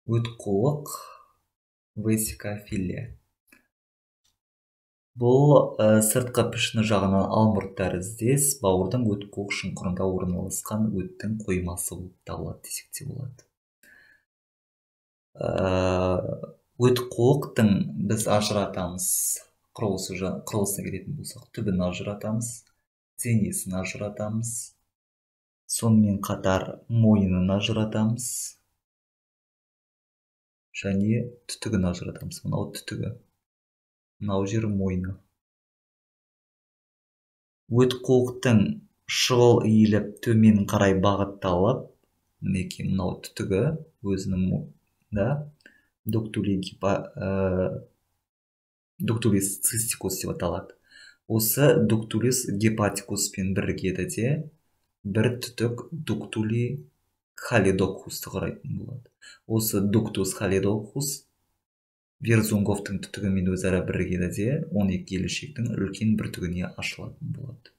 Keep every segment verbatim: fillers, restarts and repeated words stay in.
өтқуық весикофилия. Бұл ә, сыртқы пішіні жағынан алмұрт тәріздес бауырдың өтқуық шұңқырында орналасқан өттің қоймасы болып табылады десек те болады. Ә, өтқуықтың біз ажыратамыз, құрылысы құрылысына келетін болсақ, түбін ажыратамыз, денесін ажыратамыз, сонымен қатар мойнын ажыратамыз және түтігін ажыратамыз. Мынау түтігі, мынау жері мойны. Өтқуықтың шұғыл иіліп төмен қарай бағытталып, мінекей мынау түтігі өзінің да дуктулис цистикус деп аталады. Осы дуктулис гепатикуспен бірігеді де бір түтік дуктули халидокусты құрайтын болады. Осы дуктус халидокус Верзунговтың түтігімен өзара бірігеді де он екі келешектің үлкен бір түгіне ашылатын болады.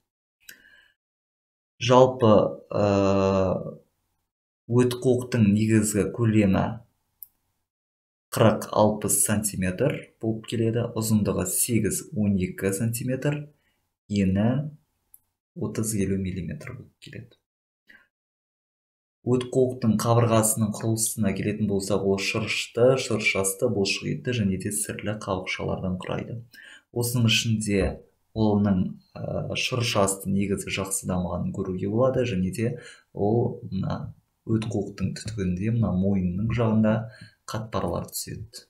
Жалпы өтқуықтың негізгі көлемі қырық алпыс сантиметр болып келеді, ұзындығы сегіз он екі сантиметр, ені отыз елу миллиметр болып келеді. Өтқуықтың қабырғасының құрылысына келетін болсақ, ол шырышты, шыршасты, бұлшықетті және де сірлі қабықшалардан құрайды. Осының ішінде оның шыршасты негізі жақсы дамығанын көруге болады, және де ол мына өтқуықтың түтігінде, мына мойнының жағында қатпарлар түседі.